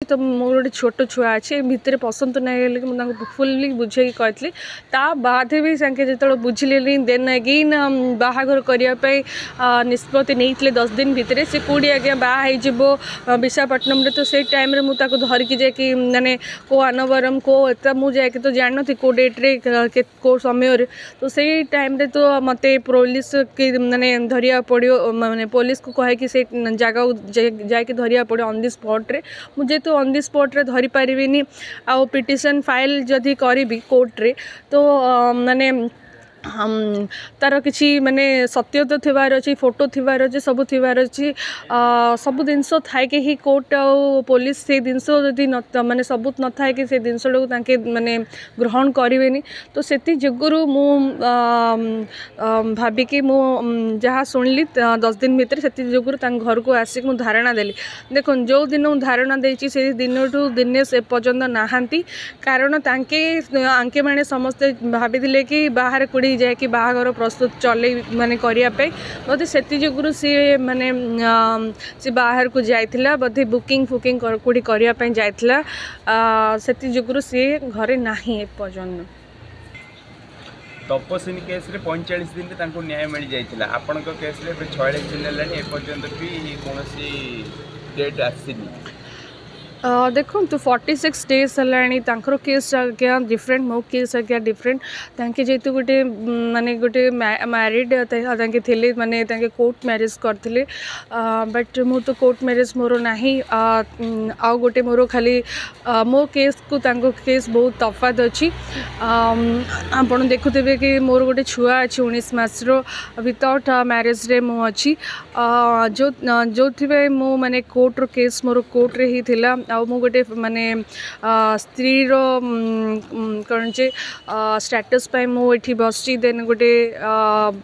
ତ ମୋର ଗୋଟେ ଛୋଟ ଛୁଆ ଅଛି, ଭିତରେ ପସନ୍ତୁ ନାହିଁ ବୋଲି ମୁଁ ତାଙ୍କୁ ଫୁଲ୍ଲି ବୁଝେଇକି କହିଥିଲି। ତା ବାଦ ବି ତାଙ୍କେ ଯେତେବେଳେ ବୁଝିଲେନି, ଦେନ୍ ଏଗେନ୍ ବାହାଘର କରିବା ପାଇଁ ନିଷ୍ପତ୍ତି ନେଇଥିଲେ 10 ଦିନ ଭିତରେ। ସେ କେଉଁଠି ଆଜ୍ଞା ବାହା ହେଇଯିବ ବିଶାଖାପଟ୍ଟନମରେ? ତ ସେଇ ଟାଇମ୍ରେ ମୁଁ ତାକୁ ଧରିକି ଯାଇକି ମାନେ କେଉଁ ଆନବରମ କେଉଁ ଏତେ ମୁଁ ଯାଇକି ତ ଜାଣିନଥିଲି କେଉଁ ଡେଟ୍ରେ, କେଉଁ ସମୟରେ। ତ ସେଇ ଟାଇମ୍ରେ ତ ମୋତେ ପୋଲିସ କି ମାନେ ଧରିବାକୁ ପଡ଼ିବ, ମାନେ ପୋଲିସକୁ କହିକି ସେଇ ଜାଗାକୁ ଯାଇକି ଧରିବାକୁ ପଡ଼ିବ ଅନ୍ the ସ୍ପଟ୍ରେ। ମୁଁ ଯେହେତୁ ଅନ୍ the ସ୍ପଟ୍ରେ ଧରିପାରିବିନି ଆଉ ପିଟିସନ୍ ଫାଇଲ୍ ଯଦି କରିବି କୋର୍ଟରେ, ତ ମାନେ ତାର କିଛି ମାନେ ସତ୍ୟତା ଥିବାର ଅଛି, ଫଟୋ ଥିବାର ଅଛି, ସବୁ ଥିବାର ଅଛି। ସବୁ ଜିନିଷ ଥାଇକି ହିଁ କୋର୍ଟ ଆଉ ପୋଲିସ ସେଇ ଜିନିଷ ଯଦି ନ ମାନେ ସବୁତ ନଥାଏ କି ସେ ଜିନିଷଟାକୁ ତାଙ୍କେ ମାନେ ଗ୍ରହଣ କରିବେନି। ତ ସେଥି ଯୋଗୁରୁ ମୁଁ ଭାବିକି ମୁଁ ଯାହା ଶୁଣିଲି 10 ଦିନ ଭିତରେ, ସେଥି ଯୋଗୁରୁ ତାଙ୍କ ଘରକୁ ଆସିକି ମୁଁ ଧାରଣା ଦେଲି। ଦେଖନ୍ତୁ, ଯେଉଁ ଦିନ ମୁଁ ଧାରଣା ଦେଇଛି, ସେଇ ଦିନଠୁ ଦିନେଶ ଏପର୍ଯ୍ୟନ୍ତ ନାହାନ୍ତି। କାରଣ ତାଙ୍କେ ଆଙ୍କେମାନେ ସମସ୍ତେ ଭାବିଥିଲେ କି ବାହାରେ କୋଉଠି ଯାଇକି ବାହାଘର ପ୍ରସ୍ତୁତ ଚଲେଇ ମାନେ କରିବା ପାଇଁ। ବୋଧେ ସେଥି ଯୋଗୁରୁ ସିଏ ମାନେ ସେ ବାହାରକୁ ଯାଇଥିଲା, ବୋଧେ ବୁକିଂ ଫୁକିଂ କେଉଁଠି କରିବା ପାଇଁ ଯାଇଥିଲା। ସେଥି ଯୋଗୁରୁ ସିଏ ଘରେ ନାହିଁ ଏପର୍ଯ୍ୟନ୍ତ। ତପସ୍ୱିନୀ କେସ୍ରେ 45 ଦିନରେ ତାଙ୍କୁ ନ୍ୟାୟ ମିଳିଯାଇଥିଲା। ଆପଣଙ୍କ କେସ୍ରେ ଏବେ 46 ଦିନ ହେଲାଣି, ଏପର୍ଯ୍ୟନ୍ତ ବି କୌଣସି ଡେଟ୍ ଆସିନି। ଦେଖନ୍ତୁ, 46 ଡେଜ୍ ହେଲାଣି। ତାଙ୍କର କେସ୍ ଆଜ୍ଞା ଡିଫରେଣ୍ଟ, ମୋ କେସ୍ ଆଜ୍ଞା ଡିଫରେଣ୍ଟ। ତାଙ୍କେ ଯେହେତୁ ଗୋଟେ ମାନେ ଗୋଟେ ମ୍ୟାରିଡ଼ ତାଙ୍କେ ଥିଲେ, ମାନେ ତାଙ୍କେ କୋର୍ଟ ମ୍ୟାରେଜ୍ କରିଥିଲେ, ବଟ୍ ମୁଁ ତ କୋର୍ଟ ମ୍ୟାରେଜ୍ ମୋର ନାହିଁ। ଆଉ ଗୋଟେ ମୋର ଖାଲି ମୋ କେସ୍କୁ ତାଙ୍କ କେସ୍ ବହୁତ ତଫାତ ଅଛି। ଆପଣ ଦେଖୁଥିବେ କି ମୋର ଗୋଟେ ଛୁଆ ଅଛି 19 ମାସର, ୱିଥାଉଟ୍ ମ୍ୟାରେଜ୍ରେ ମୁଁ ଅଛି, ଯେଉଁଥିପାଇଁ ମୁଁ ମାନେ କୋର୍ଟର କେସ୍ ମୋର କୋର୍ଟରେ ହିଁ ଥିଲା। ଆଉ ମୁଁ ଗୋଟେ ମାନେ ସ୍ତ୍ରୀର କ'ଣ ଯେ ଷ୍ଟାଟସ୍ ପାଇଁ ମୁଁ ଏଠି ବସିଛି, ଦେନ୍ ଗୋଟେ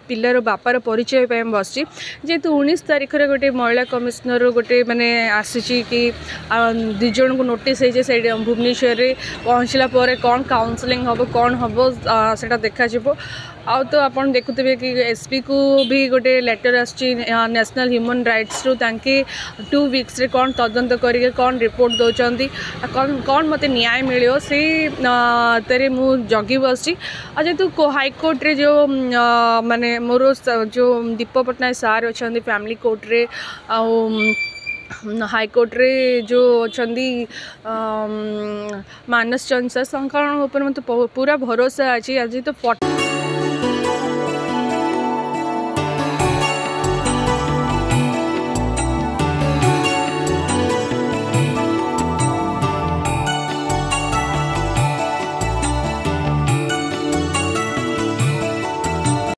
ପିଲାର ବାପାର ପରିଚୟ ପାଇଁ ମୁଁ ବସିଛି। ଯେହେତୁ 19 ତାରିଖରେ ଗୋଟେ ମହିଳା କମିଶନର ଗୋଟେ ମାନେ ଆସିଛି କି 2 ଜଣଙ୍କୁ ନୋଟିସ୍ ହେଇଛି, ସେଇଠି ଭୁବନେଶ୍ୱରରେ ପହଞ୍ଚିଲା ପରେ କ'ଣ କାଉନସିଲିଂ ହେବ, କ'ଣ ହେବ, ସେଇଟା ଦେଖାଯିବ। ଆଉ ତ ଆପଣ ଦେଖୁଥିବେ କି ଏସ୍ପିକୁ ବି ଗୋଟେ ଲେଟର୍ ଆସିଛି ନ୍ୟାସନାଲ୍ ହ୍ୟୁମାନ୍ ରାଇଟ୍ସରୁ। ତାଙ୍କେ 2 ୱିକ୍ସରେ କ'ଣ ତଦନ୍ତ କରିକି କ'ଣ ରିପୋର୍ଟ ଦେଉଛନ୍ତି, କ'ଣ କ'ଣ ମୋତେ ନ୍ୟାୟ ମିଳିବ, ସେଇ ତରେ ମୁଁ ଜଗି ବସିଛି। ଆଉ ଯେହେତୁ ହାଇକୋର୍ଟରେ ଯେଉଁ ମାନେ ମୋର ଯେଉଁ ଦୀପ ପଟ୍ଟନାୟକ ସାର୍ ଅଛନ୍ତି ଫ୍ୟାମିଲି କୋର୍ଟରେ, ଆଉ ହାଇକୋର୍ଟରେ ଯେଉଁ ଅଛନ୍ତି ମାନସ ଚନ୍ଦ ସାର୍, ତାଙ୍କ ଉପରେ ମୋତେ ପୁରା ଭରସା ଅଛି। ଆଜି ତ